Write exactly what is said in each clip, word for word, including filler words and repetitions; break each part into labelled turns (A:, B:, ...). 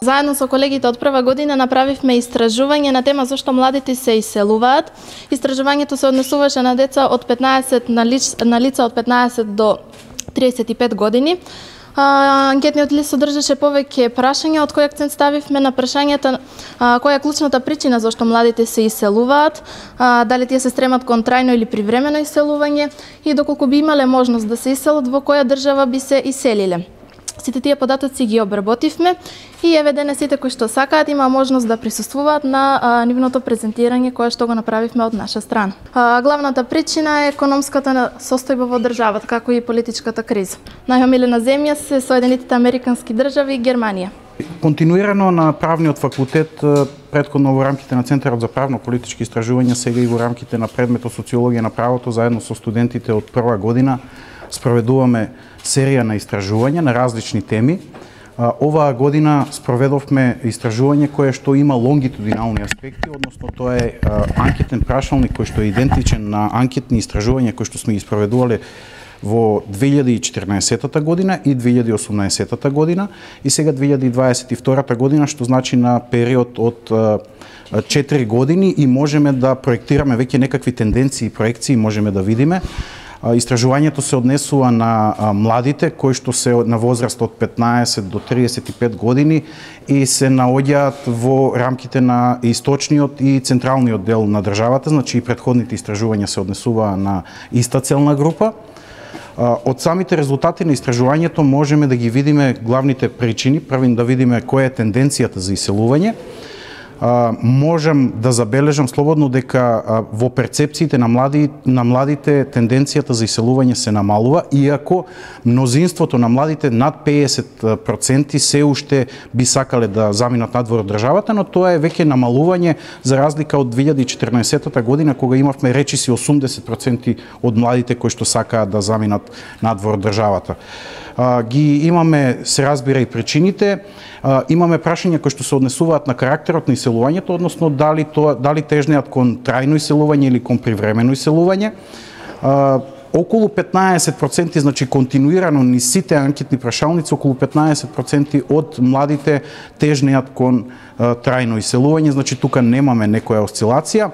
A: Заедно со колегите од прва година направивме истражување на тема зашто младите се иселуваат. Истражувањето се однесуваше на деца од петнаесет на, лиц, на лица од петнаесет до триесет и пет години. А, анкетниот лист содржеше повеќе прашања, од кој акцент ставивме на прашањата а, која е клучната причина зашто младите се иселуваат, а, дали тие се стремат кон трајно или привремено иселување и доколку би имале можност да се иселат, во која држава би се иселиле. Сите тие податоци ги обработивме и еве денес сите кои што сакаат има можност да присуствуваат на а, нивното презентирање кое што го направивме од наша страна. А, главната причина е економската состојба во државата, како и политичката криза. Најомилена земја се Соединетите Американски држави и Германија.
B: Континуирано на правниот факултет, претходно во рамките на Центарот за правно-политички истражувања, сега и во рамките на предметот социологија на правото, заедно со студентите од прва година, спроведуваме серија на истражувања на различни теми. Оваа година спроведовме истражување кое што има лонгитудинални аспекти, односно тоа е анкетен прашалник кој што е идентичен на анкетни истражувања кои што сме ги спроведувале во две илјади и четирнаесетта година и две илјади и осумнаесетта година и сега две илјади и дваесет и втората година, што значи на период од четири години и можеме да проектираме веќе некакви тенденции и проекции, можеме да видиме. Истражувањето се однесува на младите кои што се на возраст од петнаесет до триесет и пет години и се наоѓаат во рамките на источниот и централниот дел на државата, значи и претходните истражувања се однесуваа на иста целна група. Од самите резултати на истражувањето можеме да ги видиме главните причини, првин да видиме која е тенденцијата за иселување. Можам да забележам слободно дека во перцепциите на млади на младите тенденцијата за иселување се намалува, иако мнозинството на младите над педесет проценти се уште би сакале да заминат надвор од државата, но тоа е веќе намалување за разлика од две илјади и четирнаесетта година кога имавме речиси осумдесет проценти од младите кои што сакаат да заминат надвор од државата. Ги имаме, се разбира, и причините. Имаме прашања кои што се однесуваат на карактерот на иселувањето, односно дали тоа дали тежнеат кон трајно иселување или кон привремено иселување. Околу петнаесет проценти, значи континуирано ни сите анкетни прашалници, околу петнаесет проценти од младите тежнеат кон трајно иселување, значи тука немаме некоја осцилација.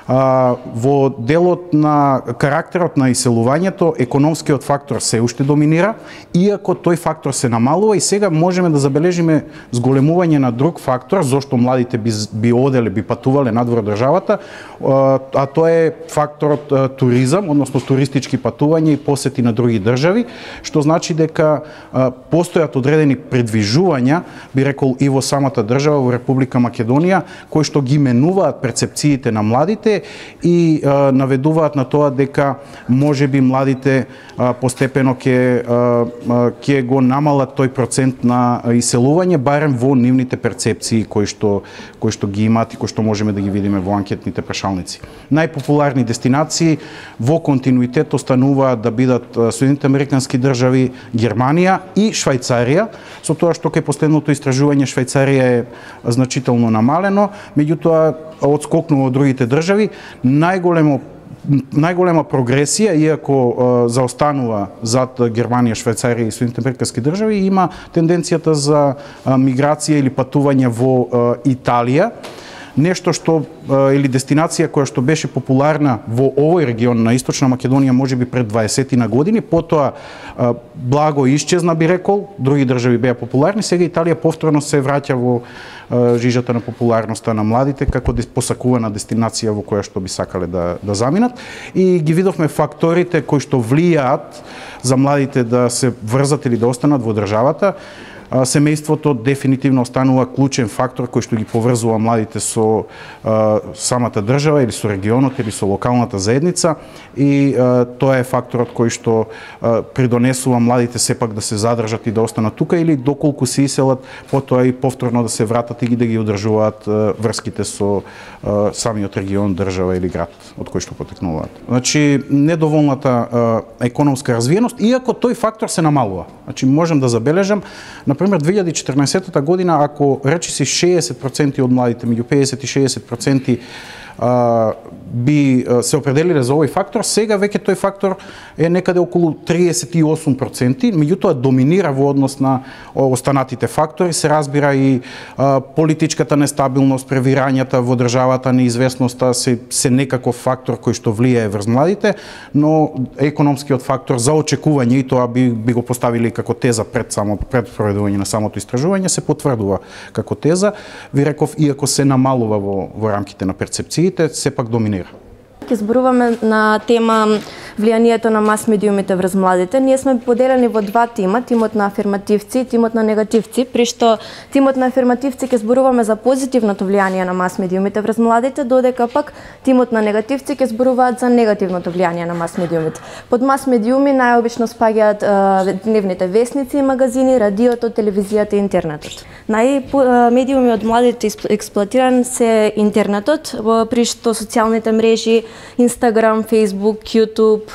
B: Во делот на карактерот на иселувањето, економскиот фактор се уште доминира, иако тој фактор се намалува и сега можеме да забележиме зголемување на друг фактор, зошто младите би, би оделе, би патувале надвор државата, а тоа е факторот туризам, односно туристички патувања и посети на други држави, што значи дека постојат одредени предвижувања, би рекол и во самата држава, во Република Македонија, кои што ги менуваат перцепциите на младите и а, наведуваат на тоа дека можеби младите а, постепено ќе ќе го намалат тој процент на иселување, барем во нивните перцепции кои што кои што ги имаат и кои што можеме да ги видиме во анкетните прашалници. Најпопуларни дестинации во континуитет остануваат да бидат Соединетите Американски држави, Германија и Швајцарија, со тоа што кај последното истражување Швајцарија е значително намалено, меѓутоа одскокнува од другите држави. Најголемо најголема прогресија, иако е, заостанува зад Германија, Швајцарија и Соединетите Американски држави, има тенденцијата за е, миграција или патување во е, Италија. Нешто што или дестинација која што беше популарна во овој регион на Источна Македонија можеби пред дваесетина години, потоа благо исчезна, би рекол, други држави беа популарни, сега Италија повторно се враќа во жижата на популарноста на младите како посакувана дестинација во која што би сакале да да заминат и ги видовме факторите кои што влијаат за младите да се врзат или да останат во државата. Семејството дефинитивно останува клучен фактор кој што ги поврзува младите со а, самата држава или со регионот или со локалната заедница и а, тоа е факторот кој што а, придонесува младите сепак да се задржат и да останат тука или доколку се иселат, потоа и повторно да се вратат и да ги одржуваат а, врските со а, самиот регион, држава или град од кој што потекнуваат. Значи недоволната а, економска развиеност, иако тој фактор се намалува. Значи можам да забележам, например, две илјади и четрнаесетта година, ако речиси шеесет проценти од младите, меѓу педесет и шеесет проценти а, би се определиле за овој фактор, сега веќе тој фактор е некаде околу триесет и осум проценти, меѓутоа доминира во однос на останатите фактори, се разбира и а, политичката нестабилност, превирањата во државата, неизвестноста се, се некаков фактор кој што влијае врз младите, но економскиот фактор за очекување, и тоа би, би го поставили како теза пред само пред проведување на самото истражување, се потврдува како теза. Ви реков, иако се намалува во, во рамките на перцепциите, сепак доминира.
C: Ке зборуваме на тема влијанието на мас медиумите врз младите. Ние сме поделени во два тима, тимот на афирмативци и тимот на негативци, при што тимот на афирмативци ке зборуваме за позитивното влијание на мас медиумите врз младите, додека пак тимот на негативци ке зборуваат за негативното влијание на мас медиумите. Под мас медиуми најобично спаѓаат е, дневните весници и магазини, радиото, телевизијата и интернетот. Најмедиуми од младите експлоатиран се интернетот, при што социјалните мрежи, Инстаграм, Фейсбук, Јутуб,